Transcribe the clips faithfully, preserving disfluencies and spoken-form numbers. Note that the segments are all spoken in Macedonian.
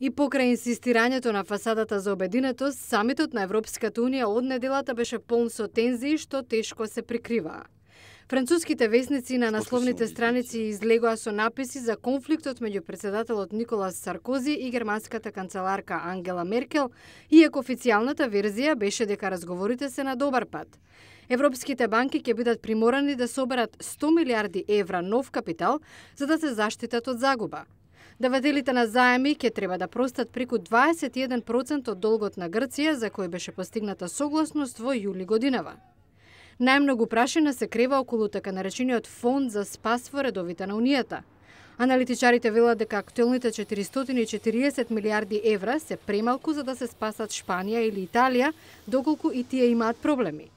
И покрај инсистирањето на фасадата за обединетост, самитот на Европската унија од неделата беше полн со тензии што тешко се прикриваа. Француските весници на насловните страници излегоа со написи за конфликтот меѓу претседателот Николас Саркози и германската канцеларка Ангела Меркел, иако официјалната верзија беше дека разговорите се на добар пат. Европските банки ќе бидат приморани да соберат сто милиарди евра нов капитал за да се заштитат од загуба. Давателите на заеми ќе треба да простат преку дваесет и еден проценти од долгот на Грција, за кој беше постигната согласност во јули годинава. Најмногу прашина се крева околу така наречениот фонд за спас во редовите на Унијата. Аналитичарите велат дека актуелните четиристотини и четириесет милиарди евра се премалку за да се спасат Шпанија или Италија, доколку и тие имаат проблеми.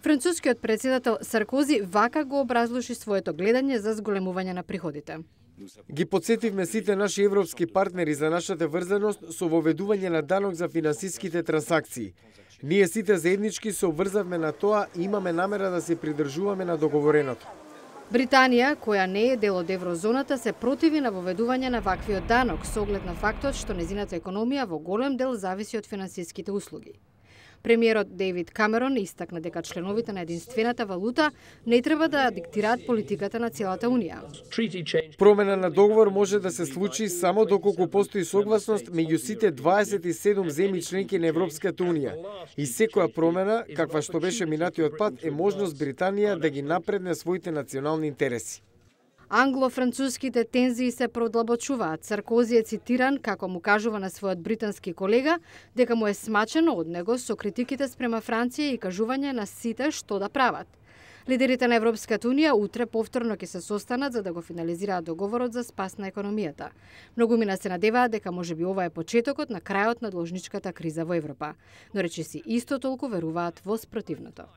Францускиот претседател Саркози вака го образлоши своето гледање за зголемување на приходите. Ги подсетивме сите наши европски партнери за нашата врзаност со воведување на данок за финансиските трансакции. Ние сите заеднички се обврзавме на тоа и имаме намера да се придржуваме на договореното. Британија, која не е дел од еврозоната, се противи на воведување на ваквиот данок со оглед на фактот што незината економија во голем дел зависи од финансиските услуги. Премиерот Дейвид Камерон истакна дека членовите на единствената валута не треба да диктираат политиката на целата Унија. Промена на договор може да се случи само доколку постои согласност меѓу сите дваесет и седум земји членки на Европската Унија. И секоја промена, каква што беше минатиот пат, е можност Британија да ги напредне своите национални интереси. Англо-француските тензии се продлабочуваат. Саркози е цитиран како му кажува на својот британски колега дека му е смачено од него со критиките спрема Франција и кажување на сите што да прават. Лидерите на Европската Унија утре повторно ќе се состанат за да го финализираат договорот за спас на економијата. Многумина се надеваат дека можеби ова е почетокот на крајот на должничката криза во Европа, но речиси исто толку веруваат во спротивното.